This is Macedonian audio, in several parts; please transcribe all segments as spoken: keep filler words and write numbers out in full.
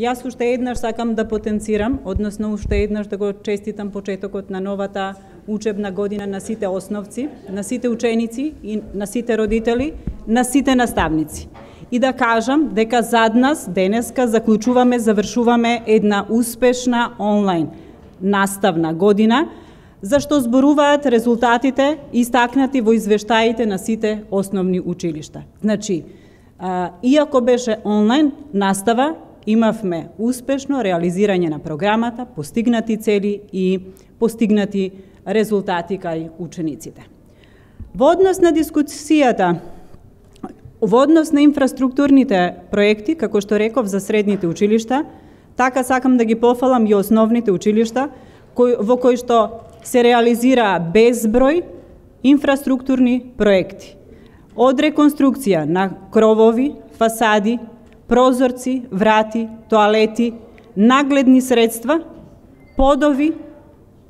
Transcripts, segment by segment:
Јас уште еднаш сакам да потенцирам, односно уште еднаш да го честитам почетокот на новата учебна година на сите основци, на сите ученици и на сите родители, на сите наставници. И да кажам дека зад нас денеска заклучуваме, завршуваме една успешна онлайн наставна година, зашто зборуваат резултатите истакнати во извештаите на сите основни училишта. Значи, а, иако беше онлайн настава, имавме успешно реализирање на програмата, постигнати цели и постигнати резултати кај учениците. Во однос на дискусијата, во однос на инфраструктурните проекти, како што реков за средните училишта, така сакам да ги пофалам и основните училишта, кои, во кои што се реализираа безброј инфраструктурни проекти. Од реконструкција на кровови, фасади, прозорци, врати, тоалети, нагледни средства, подови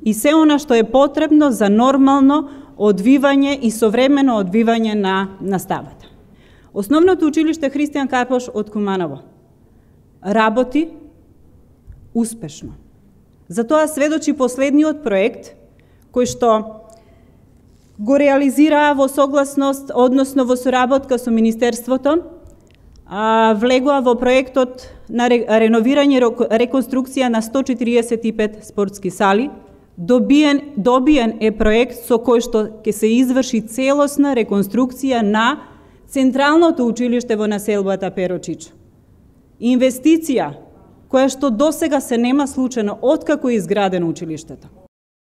и се она што е потребно за нормално одвивање и современо одвивање на наставата. Основното училиште Христијан Карпош од Куманово работи успешно. Затоа сведочи последниот проект кој што го реализираа во согласност, односно во соработка со Министерството, а, влегоа во проектот на реновирање и реконструкција на сто четириесет и пет спортски сали. Добиен, добиен е проект со кој што ќе се изврши целосна реконструкција на Централното училиште во населбата Перочич. Инвестиција која што досега се нема случајно откако е изградено училиштето.